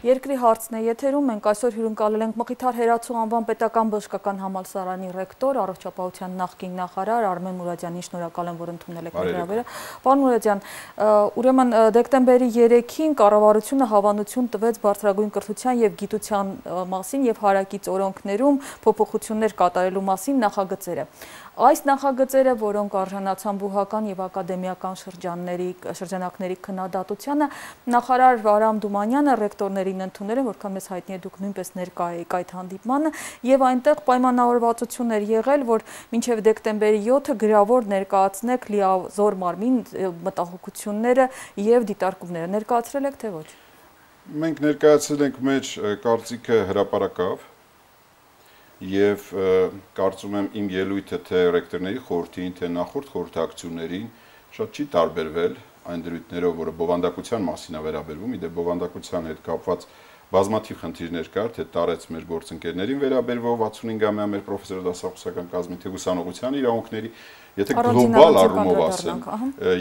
Երկրի հարցն է եթերում, մենք այսօր հյուրընկալել ենք Մխիթար Հերացու անվան պետական բժշկական համալսարանի ռեկտոր, առողջապահության նախկին նախարար Արմեն Մուրադյանին շնորհակալ եմ, որ ընդունել եք մեր հրավերը։ Պարոն Մուրադյան, ուրեմն դեկտեմբերի 3-ին կառավարությունը հավանություն տվեց բարձրագույն կրթության եւ գիտության մասին եւ հարակից օրենքներում փոփոխություններ կատարելու մասին նախագծերը։ Այս նախագծերը, որոնք արժանացան բուհական եւ ակադեմիական շրջանակների քննադատությանը, նախարար Վարամ Դումանյանը ռեկտորներին ընդունել են, որքան մեզ հայտնի է դուք նույնպես ներկա եք այդ հանդիպմանը, եւ այնտեղ պայմանավորվածություն էր եղել, որ մինչեւ դեկտեմբերի 7-ը գրավոր ներկայացնեք լիազոր մարմին մտահոգությունները եւ դիտարկումները։ Ներկայացրել եք թե ոչ։ Մենք ներկայացրել ենք մեր կարծիքը հրապարակավ եւ կարծում եմ իմ ելույթը թե ռեկտորների խորհրդին, թե նախորդ խորհրդակցություններին շատ չի տարբերվել այն դրույթներով, որը բովանդակության մասին է վերաբերվում, իդեպ բովանդակության հետ կապված բազմաթիվ խնդիրներ կար, թե տարեց մեր գործընկերներին վերաբերվող 65-ամյա մեր պրոֆեսոր դասախոսական կազմի թե ուսանողության իրավունքների, եթե գլոբալ առումով ասեմ,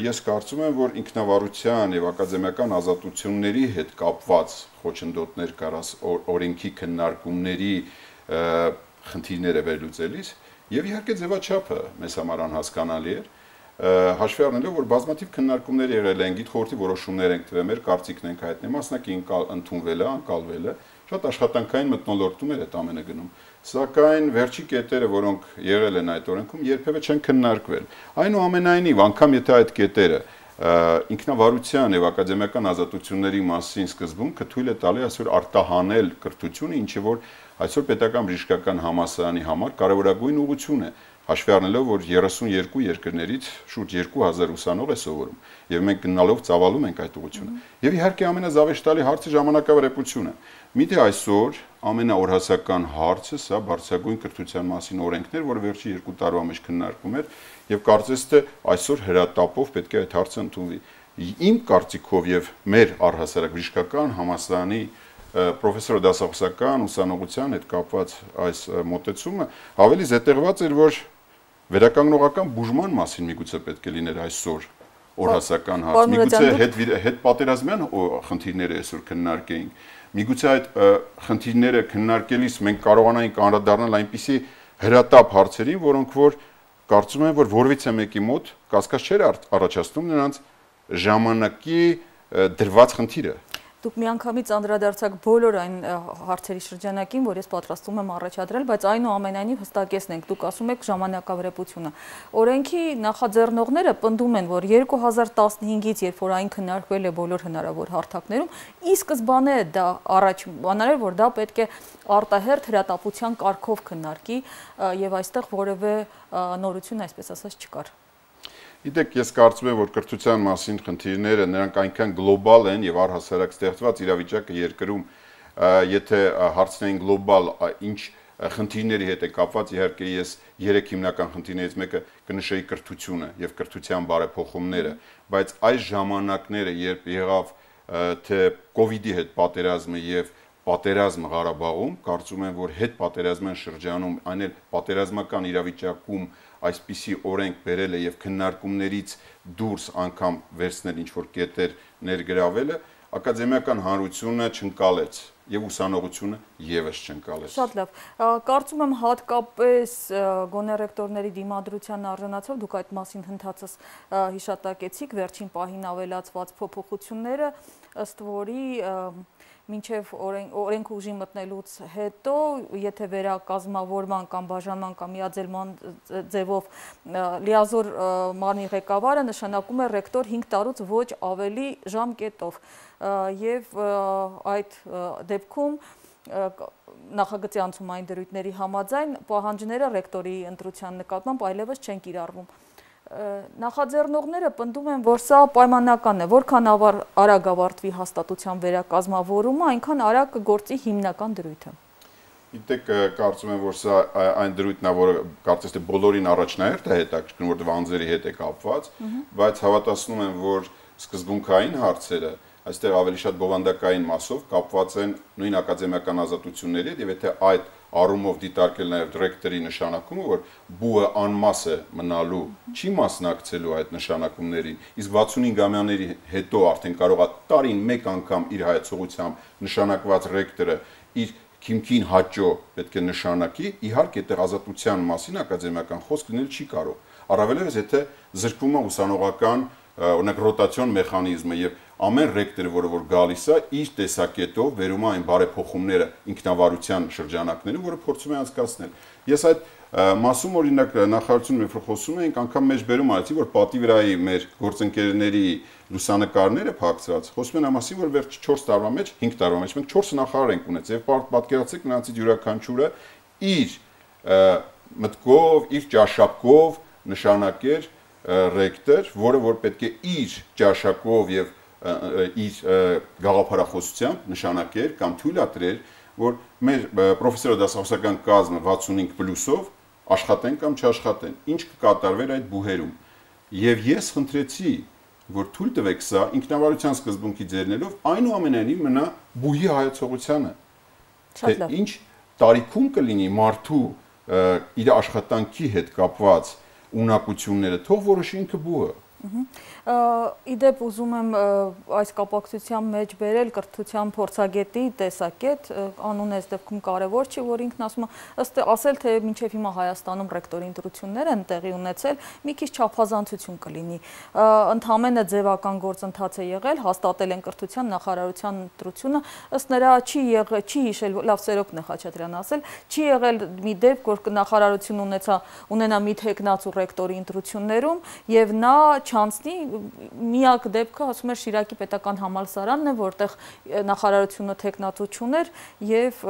ես կարծում եմ, որ ինքնավարության եւ ակադեմիական ազատությունների հետ կապված խոչընդոտներ կար օրենքի քննարկումների խնդիրները վերլուծելիս եւ իհարկե ձևաչափը մեզ համար անհասկանալի էր հաշվի առնելով որ բազմաթիվ քննարկումներ եղել են գիտխորհրդի որոշումներ ենք տվել մեր կարծիքն ենք հայտնել մասնակի ընդունվել է անկալվել է շատ աշխատանքային մթնոլորտում էր այդ ամենը գնում սակայն վերջի կետերը որոնք եղել են այդ օրենքում երբևէ չեն քննարկվել այնուամենայնիվ անգամ եթե այդ կետերը ինքնավարության եւ ակադեմիական ազատությունների մասին սկզբունքը թույլ է տալի այսօր արտահանել կրթությունը ինչը որ այսօր պետական բժշկական համալսարանի համար կարևորագույն ուղղություն է հաշվի առնելով որ 32 երկրներից շուրջ 2000 ուսանող է սովորում եւ մենք գնալով ծավալում ենք այդ ուղղությունը եւ իհարկե ամենազավեշտալի հարցը ժամանակավարեպությունը միթե այսօր ամենաօրհասական հարցը սա բարձրագույն կրթության մասին օրենքներ որ վերջի 2 տարվա մեջ քննարկում էր եւ կարծես թե այսօր հրատապով պետք է այդ հարցը ընդունվի իմ կարծիքով եւ մեր առհասարակ բժշկական համալսարանի պրոֆեսոր դասախոսական ուսանողության հետ կապված այս մոտեցումը ավելի զետեղված էր որ վերականգնողական բուժման մասին միգուցե պետք է լիներ այսօր օրհասական հարց միգուցե հետ պատերազմյան խնդիրները այսօր քննարկեինք միգուցե այդ խնդիրները քննարկելիս մենք կարողանայինք անդրադառնալ այնպիսի հրատապ հարցերին որոնք որ կարծում եմ որ որևիցե մեկի մոտ կասկած չէր առաջացնում նրանց ժամանակի դրված խնդիրը Դուք միանգամից անդրադարձաք բոլոր այն հարցերի շրջանակին, որ ես պատրաստվում եմ առաջադրել, բայց այնուամենայնիվ հստակեցնենք, դուք ասում եք ժամանակավրեպությունը։ Օրենքի նախաձեռնողները պնդում են, որ 2015-ից, երբ որ այն քննարկվել է բոլոր հնարավոր հարթակներում, ի սկզբանե դա առաջ բաներ էր, որ դա պետք է արտահերթ հրատապության կարգով քննարկի եւ այստեղ որևէ նորություն, այսպես ասած, չկար։ Գիտեք, ես կարծում եմ, որ կրթության մասին խնդիրները նրանք այնքան գլոբալ են եւ առհասարակ ստեղծված իրավիճակը երկրում, եթե հարցնեին գլոբալ ինչ խնդիրների հետ է կապված, իհարկե ես 3 հիմնական խնդիրներից մեկը կնշեի կրթությունը եւ կրթության բարեփոխումները, բայց այս ժամանակները, երբ եղավ թե կոവിഡ്ի հետ պատերազմը եւ պատերազմը Ղարաբաղում, կարծում եմ, որ հետ պատերազմյան շրջանում, այն էլ պատերազմական իրավիճակում այսպիսի օրենք բերելը եւ քննարկումներից դուրս անգամ վերցնել ինչ որ կետեր ներգրավելը ակադեմիական հանրությունը չընկալեց եւ ուսանողությունը եւս չընկալեց Շատ լավ կարծում եմ հատկապես գոնե ռեկտորների դիմադրության արժանացավ դուք այդ մասին հնդածս հիշատակեցիք վերջին պահին ավելացված փոփոխությունները ըստ որի մինչև օրենք ուժի մտնելուց հետո, եթե վերակազմավորման կամ բաժանման կամ միաձելման ձևով լիազոր մարմնի ղեկավարը նշանակում է ռեկտոր 5 տարուց ոչ ավելի ժամկետով եւ այդ դեպքում նախագծի անցումային դրույթների համաձայն պահանջները ռեկտորի ընտրության նկատմամբ այլևս չեն կիրառվում Նախաձեռնողները պնդում են, որ սա պայմանական է, որքան արագ ավարտվի հաստատության վերակազմավորումը, այնքան արագ կգործի հիմնական դրույթը։ Գիտեք, կարծում եմ, որ սա այն դրույթն է, որը կարծես թե բոլորին առաջնահերթ է հետաքրքրում, որտեղ անձերի հետ է կապված, բայց հավատացնում եմ, որ սկզբունքային հարցերը այստեղ ավելի շատ բովանդակային մասով կապված են նույն ակադեմիական ազատությունների հետ, եւ եթե այդ առումով դիտարկել նաև ռեկտորի նշանակումը, որ բուհը անմաս է մնալու, չի մասնակցելու այդ նշանակումներին, իսկ 65-ամյաների հետո արդեն կարող է տարին մեկ անգամ իր հայացողությամբ նշանակված ռեկտորը իր քիմքին հաճո պետք է նշանակի, իհարկե այդտեղ ազատության մասին ակադեմիական խոսք լինել չի կարող։ Առավելևս եթե զրկվում է ուսանողական օրինակ ռոտացիոն մեխանիզմը եւ ամեն ռեկտոր, որ գալիս է, իր տեսակետով վերում է այն բարեփոխումները ինքնավարության շրջանակներում, որը փորձում է անցկացնել։ Ես այդ մասում օրինակ նախարարությունում երբ խոսում էինք, անգամ մեջ բերում արեցի, որ պատի վրայի մեր գործընկերների լուսանկարները փակցված, խոսում են ամասի, որ վերջ 4 տարվա մեջ, 5 տարվա մեջ մենք 4 նախարար ենք ունեցել եւ պատկերացրեք նրանցից յուրաքանչյուրը իր մտքով, իր ճաշակով նշանակեր ռեկտոր, որը որ պետք է իր ճաշակով եւ իր գաղափարախոսությամբ նշանակեր կամ թույլատրեր, որ մեր պրոֆեսորադասախոսական կազմը 65+-ով աշխատեն կամ չաշխատեն, ինչ կկատարվեր այդ բուհերում։ Եվ ես խնդրեցի, որ թույլ տվեք սա ինքնավարության սկզբունքի ձեռնելով այնուամենայնիվ մնա բուհի հայացողությանը։ Թե ինչ տարիքում կլինի մարդու իր աշխատանքի հետ կապված ունակությունները, թող որոշի ինքը բուհը։ Իդեպ ուզում եմ այս կապակցության մեջ բերել կրթության փորձագետի տեսակետ, անունը այս դեպքում կարևոր չի, որ ինքն ասում է, ասել թե մինչև հիմա Հայաստանում ռեկտորի ընտրություններ են տեղի ունեցել, մի քիչ չափազանցություն կլինի։ Ընդհանրապես ձևական գործընթաց է եղել, հաստատել են կրթության նախարարության ընտրությունը, ըստ նրա չի հիշել, լավ Սերոբն է Խաչատրյան ասել, չի եղել մի դեպք, որ նախարարություն ունենա մի թեկնածու ռեկտորի ընտրություններում եւ նա չանցնի միակ դեպքը ասում էր Շիրակի պետական համալսարանն է, որտեղ նախարարությունը տեխնատու չուներ եւ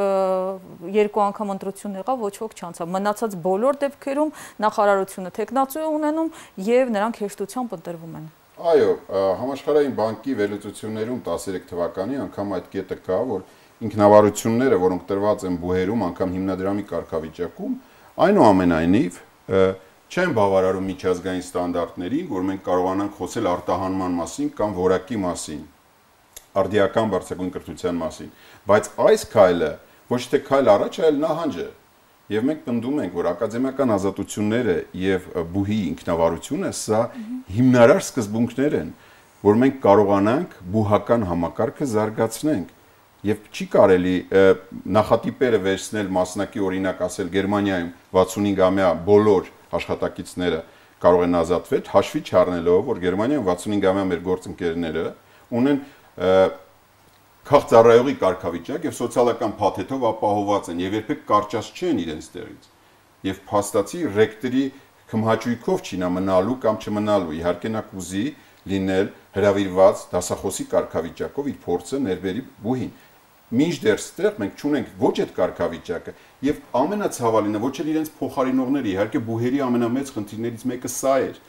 2 անգամ ընտրություն եղավ, ոչ ոք չանցավ։ Մնացած բոլոր դեպքերում նախարարությունը տեխնատու է ունենում եւ նրանք հեշտությամբ ընտրվում են։ Այո, համաշխարհային բանկի վերլուծություններում 13 թվականի անգամ այդ կետը կա, որ ինքնավարությունները, որոնք տրված են բուհերում, անգամ հիմնադրամի կարգավիճակում, այնուամենայնիվ չեն բավարարում միջազգային ստանդարտներին, որ մենք կարողանանք խոսել արտահանման մասին կամ որակի մասին, արդիական բարձրագույն կրթության մասին, բայց այս քայլը ոչ թե քայլ առաջ, այլ նահանջ է։ Եվ մենք պնդում ենք, որ ակադեմիական ազատությունները եւ բուհի ինքնավարությունը սա հիմնարար սկզբունքներ են, որ մենք կարողանանք բուհական համակարգը զարգացնենք։ Եվ չի կարելի նախատիպերը վերցնել մասնակի օրինակ ասել Գերմանիայում 65-ամյա բոլոր աշխատակիցները կարող են ազատվել, հաշվի չառնելով, որ Գերմանիայում 65-ամյա մեր գործընկերները ունեն քաղցառայողի կարգավիճակ եւ սոցիալական փաթեթով ապահովված են եւ երբեք կարճած չեն իրենց տեղից։ Եվ փաստացի ռեկտորի քմհաճույքով չի նա մնալու կամ չմնալու, իհարկե նա կուզի լինել հրավիրված դասախոսի կարգավիճակով իր փորձը ներբերի բուհին։ Մինչդեռ ստեղ մենք չունենք ոչ այդ կարգավիճակը եւ ամենացավալինը ոչ էլ իրենց փոխարինողները, իհարկե բուհերի ամենամեծ խնդիրներից մեկը սա էր։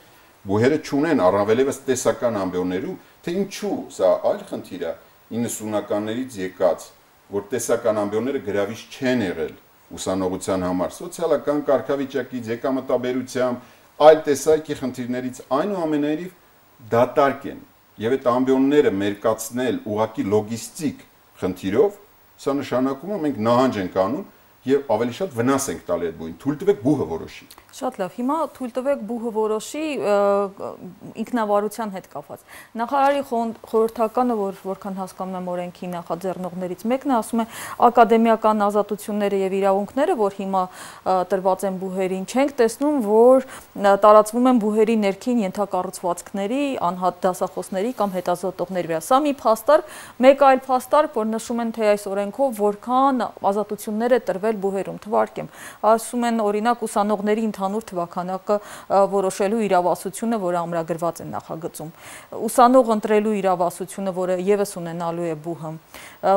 Բուհերը չունեն առավելևս տեսական ամբիոններում, թե ինչու սա այլ խնդիր է 90-ականներից եկած, որ տեսական ամբիոնները գրավիչ չեն եղել ուսանողության համար, սոցիալական կարգավիճակից, եկամտաբերությամբ, այլ տեսակի խնդիրներից այնուամենայնիվ դատարկ են եւ այդ ամբիոնները մերկացնել ուղակի լոգիստիկ խնդիրով, սա նշանակում է մենք նահանջ ենք անում եւ ավելի շատ վնաս ենք տալի այդ բուհին։ Թույլ տվեք բուհը որոշի։ Շատ լավ, հիմա թույլ տվեք բուհը որոշի ինքնավարության հետ կապված։ Նախարարի խորհրդականը, որքան հասկանում եմ օրենքի նախաձեռնողներից մեկն է, ասում է ակադեմիական ազատությունները եւ իրավունքները, որ հիմա տրված են բուհերին, չենք տեսնում, որ տարածվում են բուհերի ներքին ենթակառուցվածքների, անհատ դասախոսների կամ հետազոտողների վրա։ Սա մի փաստարկ, մեկ այլ փաստարկ, որ նշում են թե այս օրենքով որքան ազատություններ է տրվել բուհերում, թվարկեմ։ Ասում են օրինակ ուսանողների ընդհանուր թվաքանակը որոշելու իրավասությունը, որը ամրագրված է նախագծում։ Ուսանող ընտրելու իրավասությունը, որը եւս ունենալու է բուհը։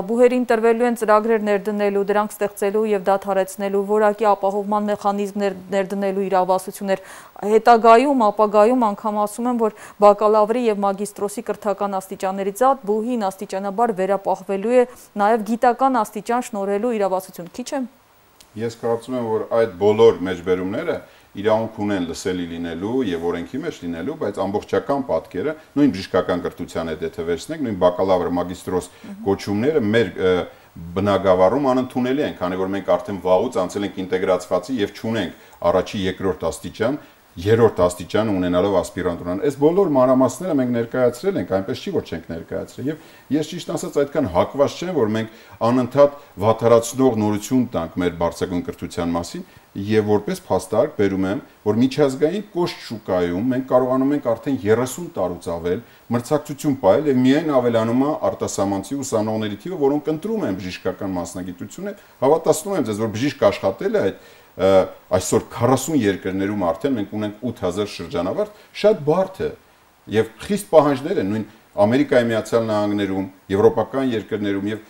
Բուհերին տրվելու են ծրագրեր ներդնելու, դրանք ստեղծելու եւ դադարեցնելու, որակի ապահովման մեխանիզմներ ներդնելու իրավասություններ։ Հետագայում, ապագայում անգամ ասում են, որ բակալավրի եւ մագիստրոսի կրթական աստիճաններից զատ բուհին աստիճանաբար վերապահվելու է նաեւ գիտական աստիճան շնորհելու իրավասություն։ Քիչ է։ Ես կարծում եմ, որ այդ բոլոր մեջբերումները իրավունք ունեն լսելի լինելու եւ օրենքի մեջ լինելու, բայց ամբողջական պատկերը նույն բժշկական կրթության հետ եթե վերցնենք, նույն բակալավր, մագիստրոս կոչումները մեր բնագավառում անընդունելի են, քանի որ մենք արդեն վաղուց անցել ենք ինտեգրացվածի եւ չունենք առաջի, երկրորդ աստիճան, երրորդ աստիճան ունենալով ասպիրանտուրան։ Այս բոլոր մանրամասները մենք ներկայացրել ենք, այնպես չի որ չենք ներկայացրել։ Եվ ես ճիշտ ասած այդքան հակված չեմ, որ մենք անընդհատ վատթարացնող նորություն տանք մեր բարձրագույն կրթության մասին, եւ որպես փաստարկ բերում եմ, որ միջազգային կոշտ շուկայում մենք կարողանում ենք արդեն 30 տարուց ավել մրցակցություն պահել եւ միայն ավելանում է արտասահմանցի ուսանողների թիվը, որոնք ընտրում են բժշկական մասնագիտությունը։ Հավատացնում եմ ձեզ, որ բժիշկ աշխատել է այդ այսօր 40 երկրներում արդեն մենք ունենք 8000 շրջանավարտ, շատ բարդ է եւ խիստ պահանջներ են նույն Ամերիկայի Միացյալ Նահանգներում, եվրոպական երկրներում եւ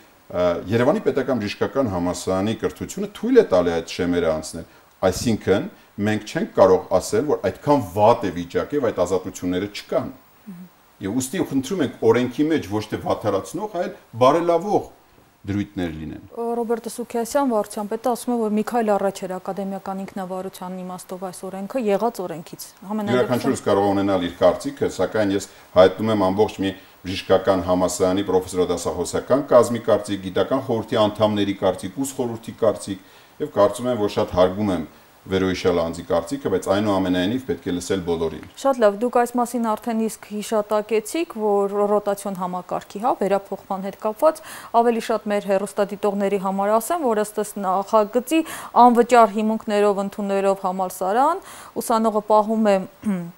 Երևանի պետական բժշկական համալսարանի կրթությունը թույլ է տալի այդ շեմերը անցնել։ Այսինքն մենք չենք կարող ասել, որ այդքան վատ է վիճակը եւ այդ ազատությունները չկան։ Եվ ուստի խնդրում ենք օրենքի մեջ ոչ թե վատթարացնող, այլ բարելավող դրույթներ լինեն։ Ռոբերտ Սուքիասյան վարչության պետը ասում է, որ մի քայլ առաջ էր ակադեմիական ինքնավարության իմաստով այս օրենքը եղած օրենքից։ Յուրաքանչյուրս կարող ունենալ իր կարծիքը, սակայն ես հայտնում եմ ամբողջ մի բժշկական համալսարանի պրոֆեսորադասախոսական կազմի կարծիք, գիտական խորհրդի անդամների կարծիք, ուսխորհրդի կարծիք եւ կարծում եմ, որ շատ հարգում եմ վերոհիշյալ անձի կարծիքը, բայց այնուամենայնիվ պետք է լսել բոլորին։ Շատ լավ, դուք այս մասին արդեն իսկ հիշատակեցիք, որ ռոտացիոն համակարգի, վերափոխման հետ կապված ավելի շատ մեր հեռուստադիտողների համար ասեմ, որ ըստ նախագծի անվճար հիմունքներով ընդունելով համալսարան, ուսանողը պահում է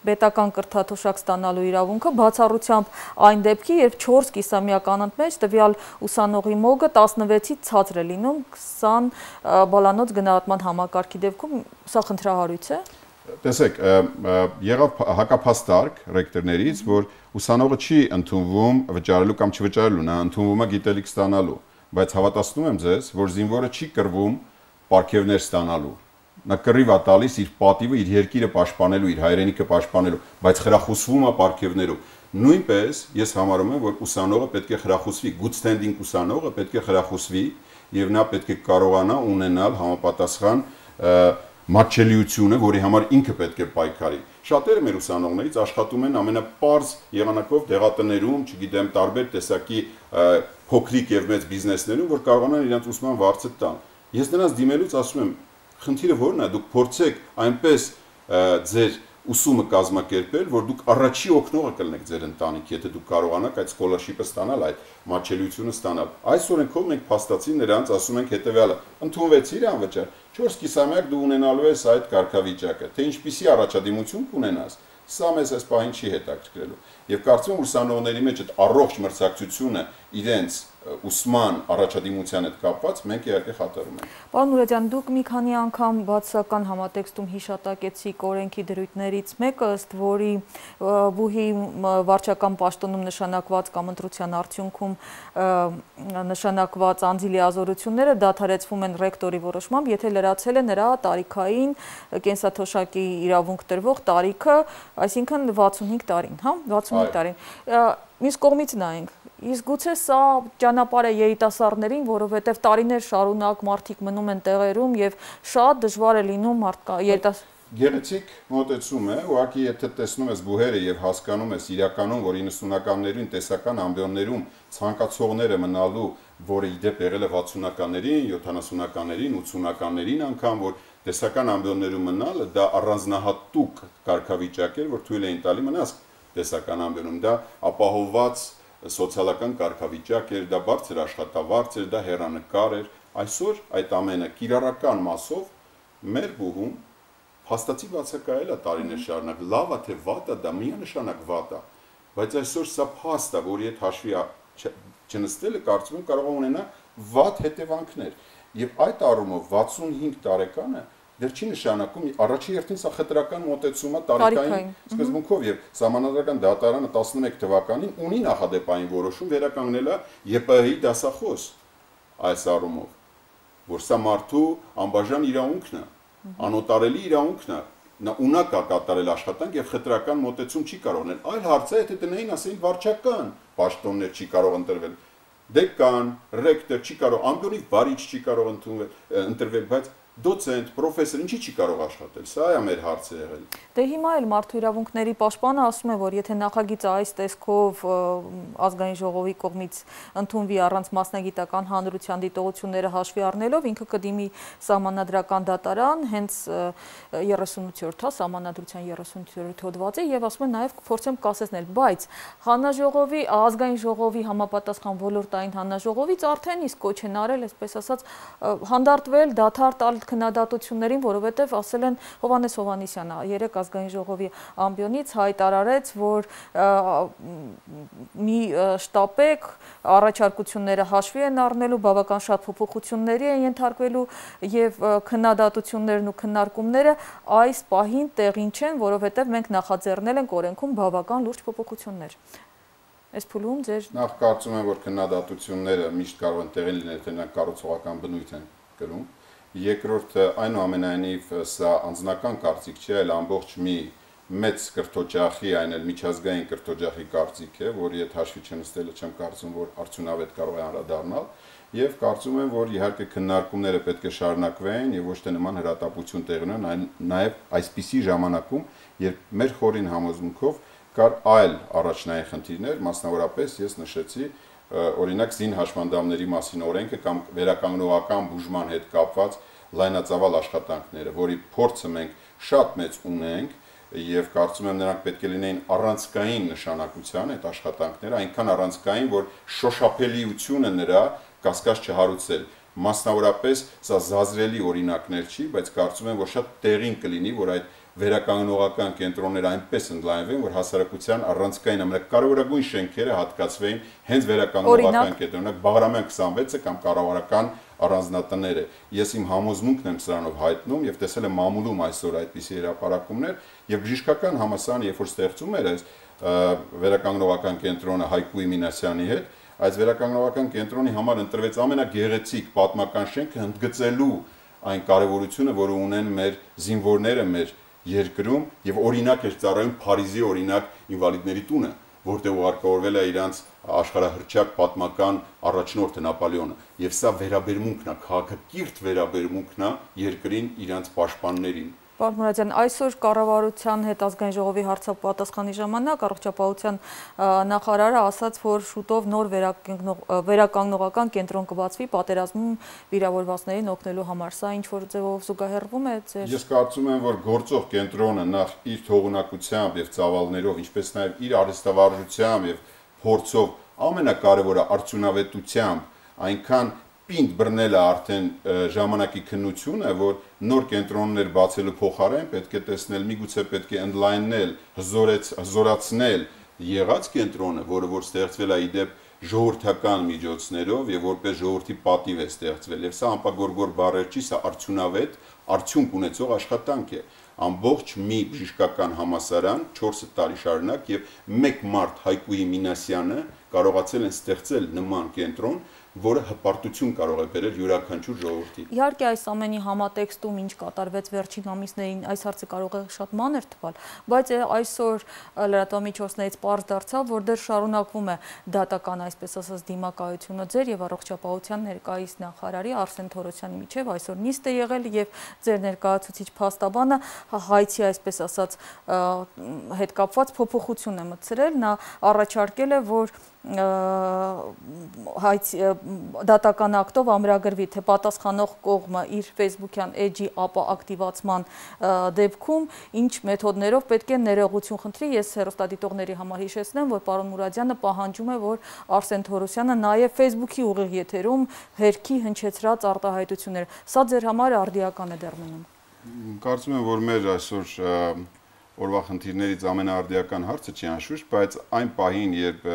պետական կրթաթոշակ ստանալու իրավունքը, բացառությամբ այն դեպքի, երբ 4 կիսամյակ անընդմեջ տվյալ ուսանողի մոգը 16-ից ցածր է լինում 20 բալանոց գնահատման համակարգի դեպքում Սա խնդրահարույց է։ Տեսեք, եղավ հակափաստարկ ռեկտորներից, որ ուսանողը չի ընդունվում վճարելու կամ չվճարելու, նա ընդունվում է գիտելիք ստանալու, բայց հավատացնում եմ ձեզ, որ զինվորը չի կռվում պարգևներ ստանալու։ Նա կռիվ է տալիս իր պատիվը, իր երկիրը պաշտպանելու, իր հայրենիքը պաշտպանելու, բայց խրախուսվում է պարգևներով։ Նույնպես ես համարում եմ, որ ուսանողը պետք է խրախուսվի, good standing ուսանողը պետք է խրախուսվի եւ նա պետք է կարողանա ունենալ համապատասխան մատչելիությունը, որի համար ինքը պետք է պայքարի։ Շատերը մեր ուսանողներից աշխատում են ամենապարզ եղանակով դեղատներում, չգիտեմ, տարբեր տեսակի փոքրիկ եւ մեծ բիզնեսներում, որ կարողանան իրենց ուսման վարձը տան։ Ես նրանց դիմելուց ասում եմ, խնդիրը ո՞րն է, դուք փորձեք այնպես ձեր ուսումը կազմակերպել, որ դուք առաջի օգնողը կլինեք ձեր ընտանիքի, եթե դուք կարողանաք այդ scholarship-ը ստանալ, այդ մատչելիությունը ստանալ։ Այս օրենքով մենք փաստացի նրանց ասում ենք հետեւյալը. ընդունվեցիր անվճար 4 կիսամյակ դու ունենալու ես այդ կարգավիճակը, թե ինչպիսի առաջադիմություն կունենաս, սա մեզ այս պահին չի հետաքրքրելու։ Եվ կարծում եմ ուսանողների մեջ այդ առողջ մրցակցությունը իրենց ուսման առաջադիմության հետ կապված մենք իհարկե խաթարում ենք։ Պարոն Մուրադյան, դուք մի քանի անգամ բացասական համատեքստում հիշատակեցիք օրենքի դրույթներից մեկը, ըստ որի բուհի վարչական պաշտոնում նշանակված կամ ընտրության արդյունքում նշանակված անձի լիազորությունները դադարեցվում են ռեկտորի որոշմամբ, եթե լրացել է նրա տարիքային կենսաթոշակի իրավունք տրվող տարիքը, այսինքն 65 տարին, 65 տարին։ Մյուս կողմից նայենք, իսկ գուցե սա ճանապարհ է երիտասարդներին, որովհետև տարիներ շարունակ մարդիկ մնում են տեղերում եւ շատ դժվար է լինում Գեղեցիկ մոտեցում է, ուղղակի եթե տեսնում ես բուհերը եւ հասկանում ես իրականում, որ 90-ականներին տեսական ամբիոններում ցանկացողները մնալու, որը իդեպ եղել է 60-ականներին, 70-ականներին, 80-ականներին անգամ, որ տեսական ամբիոններում մնալը դա առանձնահատուկ կարգավիճակ էր, որ թույլ էին տալի մնաս տեսական ամբիոնում, դա ապահովված սոցիալական կարգավիճակ էր, դա բարձր աշխատավարձ էր, դա հեռանկար էր։ Այսօր այդ ամենը կիրառական մասով մեր բուհում հաստատի բացակայել է տարիներ շարունակ, լավ է թե վատ է, դա միանշանակ վատ է, բայց այսօր սա փաստ է, որի հետ հաշվի չնստելը կարծում եմ կարող է ունենա վատ հետևանքներ։ Եվ այդ առումով 65 տարեկանը դեռ չի նշանակում առաջի հերթին սա խտրական մոտեցում է տարիքային սկզբունքով եւ Սահմանադրական դատարանը 11 թվականին ունի նախադեպային որոշում վերականգնել է ԵՊՀ-ի դասախոս այս առումով, որ սա մարդու անբաժան իրավունքն է, անոտարելի իրավունքն է, նա ունակ է կատարել աշխատանք եւ խտրական մոտեցում չի կարող ունել։ Այլ հարց է, եթե տնային ասեին վարչական պաշտոններ չի կարող ընտրվել, դեկան, ռեկտոր չի կարող, ամբողջ վարիչ չի կարող ընտրվել, բայց դոցենտ, պրոֆեսոր, ինչի չի կարող աշխատել։ Սա է մեր հարցը եղել։ Դե հիմա էլ մարդու իրավունքների պաշտպանը ասում է, որ եթե նախագիծը այս տեսքով ազգային ժողովի կողմից ընդունվի առանց մասնագիտական հանրության դիտողությունները հաշվի առնելով, ինքը կդիմի սահմանադրական դատարան, հենց 38-րդ, հա, սահմանադրության 38-րդ հոդվածի եւ ասում է նաեւ կփորձեմ կասեցնել, բայց հանրաժողովի, ազգային ժողովի համապատասխան ոլորտային հանրաժողովից արդեն իսկ կոչ են արել, այսպես ասած, հանդարտվել, դադար տալ քննադատություններին, որովհետեւ ասել են Հովհաննես Հովհաննիսյանը երեք ազգային ժողովի ամբիոնից հայտարարեց, որ մի շտապեք, առաջարկությունները հաշվի են առնելու, բավական շատ փոփոխությունների են ենթարկվելու եւ քննադատություններն ու քննարկումները այս պահին տեղին չեն, որովհետեւ մենք նախաձեռնել ենք օրենքում բավական լուրջ փոփոխություններ։ Այս փուլում ձեր նախ կարծում եմ, որ քննադատությունները միշտ կարող են տեղին լինել, թե նրանք կառուցողական բնույթ են կրում։ Երկրորդը, այնուամենայնիվ, սա անձնական կարծիք չէ, այլ ամբողջ մի մեծ կրթօջախի, այն էլ միջազգային կրթօջախի կարծիք է, որի հետ հաշվի չնստելը չեմ կարծում, որ արդյունավետ կարող է անդրադառնալ, եւ կարծում եմ, որ իհարկե քննարկումները պետք է շարունակվեն եւ ոչ թե նման հրատապություն տեղի ունենան, նաեւ այսպիսի ժամանակում, երբ մեր խորին համոզմունքով կար այլ առաջնային խնդիրներ, մասնավորապես ես նշեցի օրինակ զին հաշմանդամների մասին օրենքը կամ վերականգնողական բուժման հետ կապված լայնածավալ աշխատանքները, որի փորձը մենք շատ մեծ ունենք եւ կարծում եմ նրանք պետք է լինեին առանցքային նշանակության այդ աշխատանքները, այնքան առանցքային, որ շոշափելիությունը նրա կասկած չհարուցել։ Մասնավորապես սա զազրելի օրինակներ չի, բայց կարծում եմ, որ շատ տեղին կլինի, որ այդ վերականգնողական կենտրոնները այնպես ընդլայնվեն, որ հասարակության առանցքային ամենակարևորագույն շենքերը հատկացվեն հենց վերականգնողական կենտրոնը, Բաղրամյան 26-ը կամ կառավարական առանձնատները։ Ես իմ համոզմունքն եմ սրանով հայտնում եւ տեսել եմ մամուլում այսօր այդպիսի հրապարակումներ եւ բժշկական համալսարանը, երբ որ ստեղծում էր այս վերականգնողական կենտրոնը Հայկուի Մինասյանի հետ, այս վերականգնողական կենտրոնի համար ընտրվեց ամենագեղեցիկ պատմական շենքը ընդգծելու այն կարևորությունը, որը ունեն մեր զինվորները, մեր երկրում եւ օրինակ էր ծառայում Փարիզի օրինակ ինվալիդների տունը, որտեղ ուղարկավորվել է իրանց աշխարհահռչակ պատմական առաջնորդը Նապոլեոնը եւ սա վերաբերմունքն է, քաղաքակիրթ վերաբերմունքն է երկրին իրանց պաշտպաններին։ Պարոն Մուրադյան, այսօր կառավարության հետ ազգային ժողովի հարցապատասխանի ժամանակ առողջապահության նախարարը ասաց, որ շուտով նոր վերականգնողական կենտրոն կբացվի պատերազմում վիրավորվածներին օգնելու համար։ Սա ինչ որ ձևով զուգահեռվում է ձեր։ Ես կարծում եմ, որ գործող կենտրոնը նախ իր թողունակությամբ եւ ծավալներով, ինչպես նաեւ իր արհեստավարժությամբ եւ փորձով ամենակարևորը արդյունավետությամբ այնքան պինդ բռնել է արդեն ժամանակի քննությունը, որ նոր կենտրոններ բացելու փոխարեն պետք է տեսնել, միգուցե պետք է ընդլայնել, հզորացնել եղած կենտրոնը, որը որ ստեղծվել է իդեպ ժողովրդական միջոցներով եւ որպես ժողովրդի պատիվ է ստեղծվել։ Եվ սա անպագորգոր բառեր չի, սա արդյունավետ, արդյունք ունեցող աշխատանք է։ Ամբողջ մի բժշկական համալսարան 4 տարի շարունակ եւ մեկ մարդ Հայկուի Մինասյանը կարողացել են ստեղծել նման կենտրոն, որը հպարտություն կարող է բերել յուրաքանչյուր ժողովրդի։ Իհարկե այս ամենի համատեքստում ինչ կատարվեց վերջին ամիսներին, այս հարցը կարող է շատ մանր թվալ, բայց այսօր լրատվամիջոցներից պարզ դարձավ, որ դեռ շարունակվում է դատական, այսպես ասած, դիմակայությունը ձեր եւ առողջապահության ներկայիս նախարարի Արսեն Թորոսյանի միջև այսօր նիստ է եղել եւ ձեր ներկայացուցիչ փաստաբանը հայցի, այսպես ասած, հետ կապված փոփոխություն է մտցրել, նա առաջարկել է, որ դատական ակտով ամրագրվի, թե պատասխանող կողմը իր Facebook-յան էջի ապա ակտիվացման դեպքում ինչ մեթոդներով պետք է ներողություն խնդրի։ Ես հեռուստադիտողների համար հիշեցնեմ, որ պարոն Մուրադյանը պահանջում է, որ Արսեն Թորոսյանը նաև Facebook-ի ուղիղ եթերում հերքի հնչեցրած արտահայտություններ։ Սա ձեր համար արդիական է դեռ մնում։ Կարծում եմ, որ մեր այսօր օրվա խնդիրներից ամենաարդիական հարցը չի անշուշտ, բայց այն պահին, երբ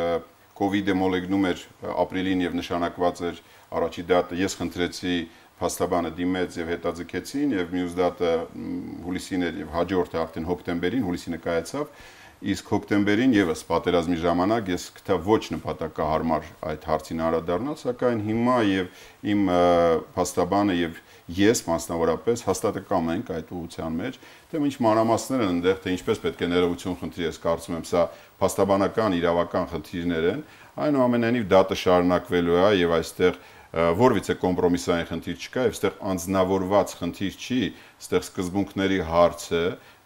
COVID-ը մոլեգնում էր ապրիլին եւ նշանակված էր առաջի դատը, ես խնդրեցի փաստաբանը դիմեց եւ հետաձգեցին եւ մյուս դատը հուլիսին էր եւ հաջորդը արդեն հոկտեմբերին, հուլիսինը կայացավ, իսկ հոկտեմբերին եւս պատերազմի ժամանակ ես գտա ոչ նպատակահարմար այդ հարցին անդրադառնալ, սակայն հիմա եւ իմ փաստաբանը եւ ես մասնավորապես հաստատակամ ենք այդ ուղղության մեջ, թե ինչ մանրամասներ են այնտեղ, թե ինչպես պետք է ներողություն խնդրի, ես կարծում եմ սա փաստաբանական իրավական խնդիրներ են, այնուամենայնիվ դատը շարունակվելու է եւ այստեղ որևիցե կոմպրոմիսային խնդիր չկա եւ այստեղ անձնավորված խնդիր չի, այստեղ սկզբունքների հարց է,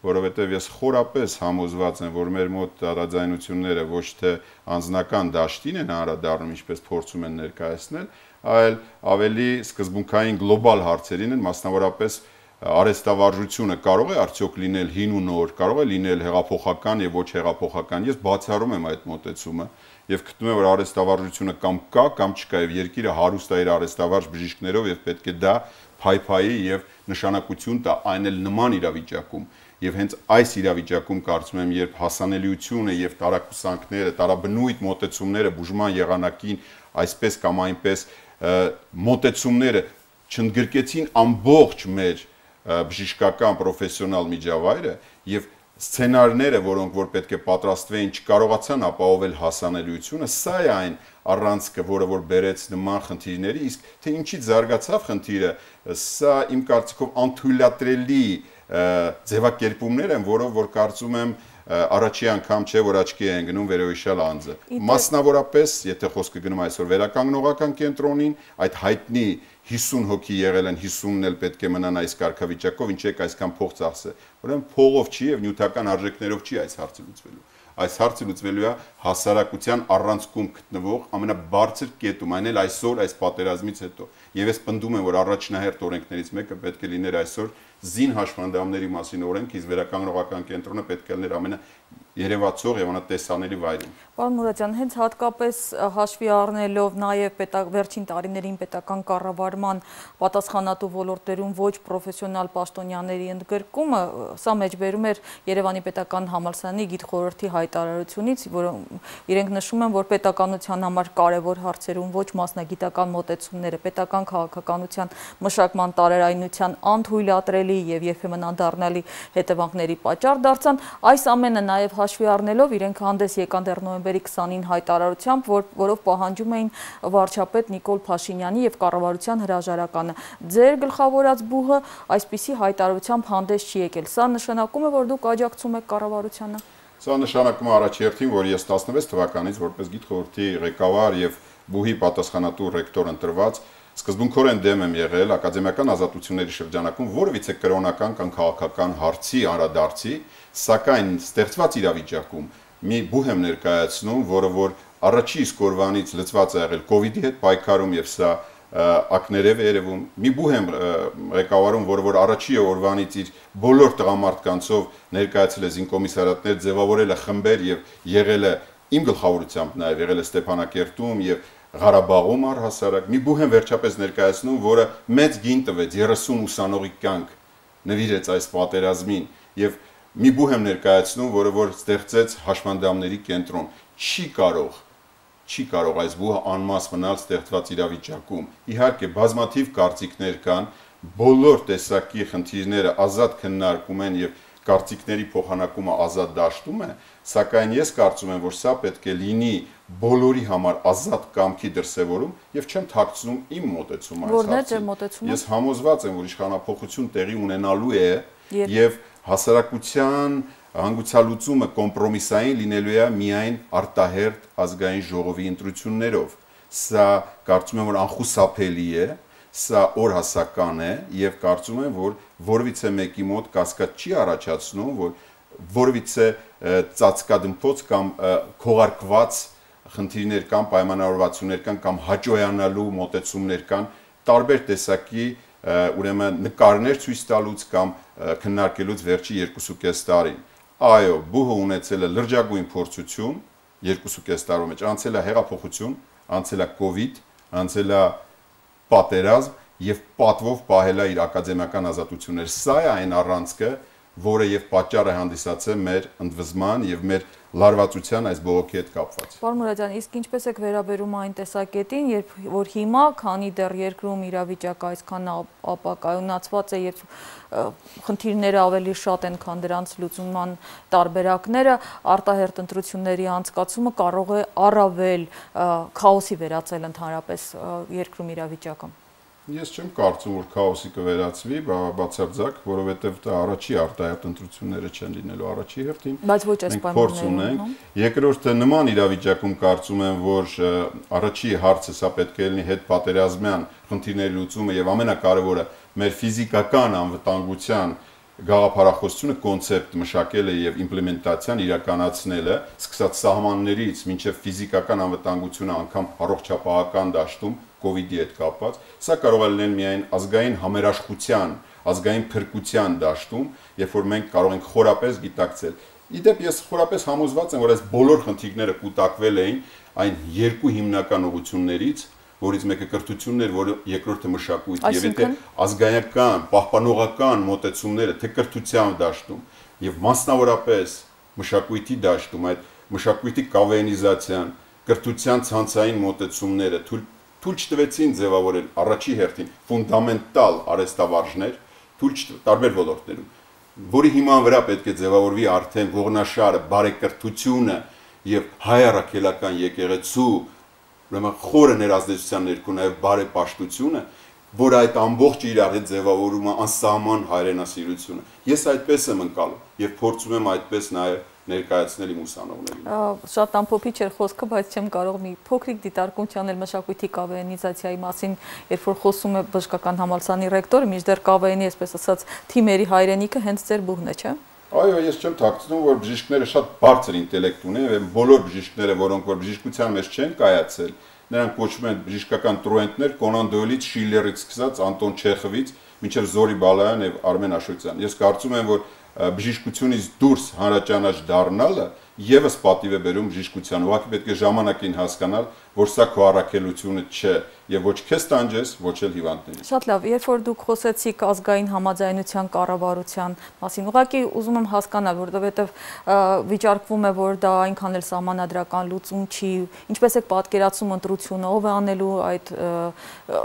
որովհետեւ ես խորապես համոզված եմ, որ մեր մոտ տարաձայնությունները ոչ թե անձնական դաշտին են անդրադառնում, ինչպես փորձում են ներկայացնել, այլ ավելի սկզբունքային գլոբալ հարցերին են, մասնավորապես արհեստավարժությունը կարող է արդյոք լինել հին ու նոր, կարող է լինել հեղափոխական եւ ոչ հեղափոխական։ Ես բացառում եմ այդ մոտեցումը եւ գտնում եմ, որ արհեստավարժությունը կամ կա, կամ չկա եւ երկիրը հարուստ է իր արհեստավարժ բժիշկներով եւ պետք է դա փայփայի եւ նշանակություն տա այն էլ նման իրավիճակում։ Եվ հենց այս իրավիճակում կարծում եմ, երբ հասանելիությունը եւ տարակուսանքները, տարաբնույթ մոտեցումները բուժման եղանակին այսպես կամ այնպես մոտեցումները չընդգրկեցին ամբողջ մեր բժշկական պրոֆեսիոնալ միջավայրը եւ սցենարները, որոնք որ պետք է պատրաստվեին, չկարողացան ապահովել հասանելիությունը, սա է այն առանցքը, որը որ բերեց նման խնդիրների, իսկ թե ինչից զարգացավ խնդիրը, սա իմ կարծիքով անթույլատրելի ձևակերպումներ են, որով որ կարծում եմ առաջի անգամ չէ, որ աչքի է ընկնում վերոհիշյալ անձը։ Մասնավորապես, եթե խոսքը գնում այսօր վերականգնողական կենտրոնին, այդ հայտնի 50 հոգի եղել են, 50-ն էլ պետք է մնան այս կարգավիճակով, ինչ եք այսքան փող ծախսել։ Ուրեմն փողով չի եւ նյութական արժեքներով չի այս հարցը լուծվելու։ Այս հարցը լուծվելու է հասարակության առանցքում գտնվող ամենաբարձր կետում, այն էլ այսօր այս պատերազմից հետո։ Եվ ես պնդում եմ, որ առաջնահերթ օրենքներից մեկը պետք է լիներ այսօր զին հաշմանդամների մասին օրենք, իսկ վերականգնողական կենտրոնը պետք է լիներ ամենաերևացող եւ անտեսանելի վայրում։ Պարոն Մուրադյան, հենց հատկապես հաշվի առնելով նաեւ վերջին տարիներին պետական կառավարման պատասխանատու ոլորտերում ոչ պրոֆեսիոնալ պաշտոնյաների ընդգրկումը, սա մեջբերում էր Երևանի պետական համալսարանի գիտխորհրդի հայտարարությունից, որ իրենք նշում են, որ պետականության համար կարևոր հարցերում ոչ մասնագիտական մոտեցումները, պետական քաղաքականության մշակման տարերայնության անթույլատրելի եւ երբեմն անդառնալի հետևանքների պատճառ դարձան։ Այս ամենը նաեւ հաշվի առնելով իրենք հանդես եկան դեռ նոյեմբերի 20-ին հայտարարությամբ, որով պահանջում էին վարչապետ Նիկոլ Փաշինյանի եւ կառավարության հրաժարականը։ Ձեր գլխավորած բուհը այսպիսի հայտարարությամբ հանդես չի եկել։ Սա նշանակում է, որ դուք աջակցում եք կառավարությանը։ Սա նշանակում է առաջերտին, որ ես 16 թվականից որպես գիտխորհրդի ղեկավար եւ բուհի պատասխանատու ռեկտոր ընտրված սկզբունքորեն դեմ եմ եղել ակադեմիական ազատությունների շրջանակում որևիցե կրոնական կամ քաղաքական հարցի անդրադարձի, սակայն ստեղծված իրավիճակում մի բուհ եմ ներկայացնում, որը որ առաջի իսկ օրվանից լծված է եղել կոവിഡ്ի հետ պայքարում եւ սա ակներև է երևում։ Մի բուհ եմ ղեկավարում, որը որ առաջի օրվանից իր բոլոր տղամարդկանցով ներկայացել է զինկոմիսարիատներ, ձևավորել է խմբեր եւ եղել է իմ գլխավորությամբ նաեւ եղել է Ստեփանակերտում եւ Ղարաբաղում առհասարակ։ Մի բուհ եմ վերջապես ներկայացնում, որը մեծ գին տվեց 30 ուսանողի կյանք նվիրեց այս պատերազմին եւ մի բուհ եմ ներկայացնում, որը որ ստեղծեց հաշմանդամների կենտրոն։ Չի կարող այս բուհը անմաս մնալ ստեղծված իրավիճակում։ Իհարկե բազմաթիվ կարծիքներ կան, բոլոր տեսակի խնդիրները ազատ քննարկում են եւ կարծիքների փոխանակումը ազատ դաշտում է, սակայն ես կարծում եմ, որ սա պետք է լինի բոլորի համար ազատ կամքի դրսևորում եւ չեմ թաքցնում իմ մոտեցումը այս հարցին։ Ես համոզված եմ, որ իշխանապողություն տեղի ունենալու է եւ հասարակության հանգուցալուծումը կոմպրոմիսային լինելու է միայն արտահերթ ազգային ժողովի ընտրություններով։ Սա կարծում եմ, որ անխուսափելի է, սա օրհասական է եւ կարծում եմ, որ որևիցե մեկի մոտ կասկած չի առաջացնում, որ որևիցե ծածկադմփոց կամ քողարկված խնդիրներ կան, պայմանավորվածություններ կան կամ հաջողանալու մոտեցումներ կան, տարբեր տեսակի ուրեմն նկարներ ցույց տալուց կամ քննարկելուց վերջի 2.5 տարին։ Այո, բուհը ունեցել է լրջագույն փորձություն 2.5 տարում մեջ, անցել է հեղափոխություն, անցել է կոവിഡ്, անցել է պատերազմ եւ պատվով պահել է իր ակադեմիական ազատությունները։ Սա է այն առանցքը, որը եւ պատճառ է հանդիսացել մեր ընդվզման եւ մեր լարվածության այս բողոքի հետ կապված։ Պարոն Մուրադյան, իսկ ինչպես եք վերաբերում այն տեսակետին, երբ որ հիմա, քանի դեռ երկրում իրավիճակը այսքան ապակայունացված է եւ խնդիրները ավելի շատ են, քան դրանց լուծման տարբերակները, արտահերթ ընտրությունների անցկացումը կարող է առավել քաոսի վերածել ընդհանրապես երկրում իրավիճակը։ Ես չեմ կարծում, որ քաոսի կվերածվի, բացարձակ, որովհետև դա առաջի արտահայտ ընտրությունները չեն լինելու առաջի հերթին։ Բայց ոչ այս պայմաններում։ Երկրորդը նման իրավիճակում կարծում եմ, որ առաջի հարցը սա պետք է լինի հետպատերազմյան խնդիրների լուծումը եւ ամենակարևորը մեր ֆիզիկական անվտանգության գաղափարախոսությունը կոնցեպտ մշակելը եւ իմպլեմենտացիան իրականացնելը, սկսած սահմաններից մինչեւ ֆիզիկական անվտանգությունը անգամ առողջապահական դաշտում COVID-ի հետ կապված, սա կարող է լինել միայն ազգային համերաշխության, ազգային փրկության դաշտում, երբ որ մենք կարող ենք խորապես գիտակցել։ Իդեպ ես խորապես համոզված եմ, որ այս բոլոր խնդիրները կուտակվել էին այն երկու հիմնական ուղղություններից, որից մեկը կրթությունն էր, որը երկրորդը մշակույթ, եւ եթե ազգայական, պահպանողական մոտեցումները թե կրթության դաշտում եւ մասնավորապես մշակույթի դաշտում, այդ մշակույթի կավեինիզացիան, կրթության ցանցային մոտեցումները թույլ չտվեցին ձևավորել առաջի հերթին ֆունդամենտալ արհեստավարժներ, տարբեր ոլորտներում, որի հիման վրա պետք է ձևավորվի արդեն ողնաշարը, բարեկրթությունը եւ հայ առաքելական եկեղեցու ուրեմն խորը ներազդեցության ներքո նաև բարեպաշտությունը, որ այդ ամբողջ իրար հետ ձևավորում է անսահման հայրենասիրությունը։ Ես այդպես եմ ընկալում եւ փորձում եմ այդպես նաև ներկայացնել իմ ուսանողներին։ Շատ ամփոփիչ էր խոսքը, բայց չեմ կարող մի փոքրիկ դիտարկում չանել մշակույթի կավեինիզացիայի մասին, երբ որ խոսում է բժշկական համալսարանի ռեկտորը, մինչդեռ կավեինի, այսպես ասած, թիմերի հայրենիքը հենց ձեր բուհն է, չէ՞։ Այո, ես չեմ թաքցնում, որ բժիշկները շատ բարձր ինտելեկտ ունեն եւ բոլոր բժիշկները, որոնք որ բժշկության մեջ չեն կայացել, նրանք կոչվում են բժշկական տրուենտներ, Կոնան Դոյլից, Շիլլերից սկսած, Անտոն Չեխովից, մինչև Զորի Բալայան եւ Արմեն Աշոտյան։ Ես կարծում եմ, որ բժշկությունից դուրս հանրաճանաչ դառնալը եւս պատիվ է բերում բժշկության։ Ուղղակի պետք է ժամանակին հասկանալ, որ սա քո առաքելությունը չէ եւ ոչ քեզ տանջես, ոչ էլ հիվանդներին։ Շատ լավ, երբ որ դուք խոսեցիք ազգային համաձայնության կառավարության մասին, ուղղակի ուզում եմ հասկանալ, որովհետեւ վիճարկվում է, որ դա այնքան էլ սահմանադրական լուծում չի, ինչպես է պատկերացում ընտրությունը, ով է անելու այդ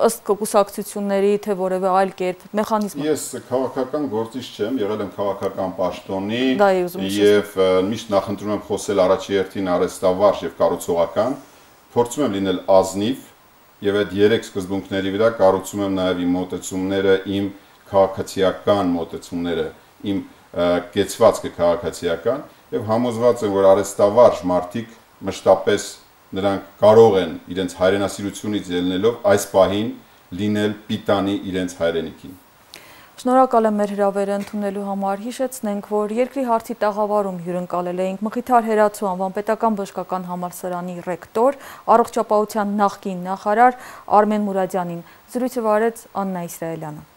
ըստ կուսակցությունների, թե որևէ այլ կերպ մեխանիզմ։ Ես քաղաքական գործիչ չեմ, եղել եմ քաղաքական պաշտոնի եւ միշտ նախընտրում եմ խոսել առաջի հերթին արհեստավարժ եւ կառուցողական, փորձում եմ լինել ազնիվ եւ այդ երեք սկզբունքների վրա կառուցում եմ նաեւ իմ մոտեցումները, իմ քաղաքացիական մոտեցումները, իմ կեցվածքը քաղաքացիական եւ համոզված եմ, որ արհեստավարժ մարդիկ մշտապես նրանք կարող են իրենց հայրենասիրությունից ելնելով այս պահին լինել պիտանի իրենց հայրենիքին։ Շնորհակալ եմ մեր հրավերը ընդունելու համար։ Հիշեցնենք, որ երկրի հարցի տաղավարում հյուրընկալել էինք Մխիթար Հերացու անվան պետական բժշկական համալսարանի ռեկտոր, առողջապահության նախկին նախարար Արմեն Մուրադյանին։ Զրույցը վարեց Աննա Իսրայելյանը։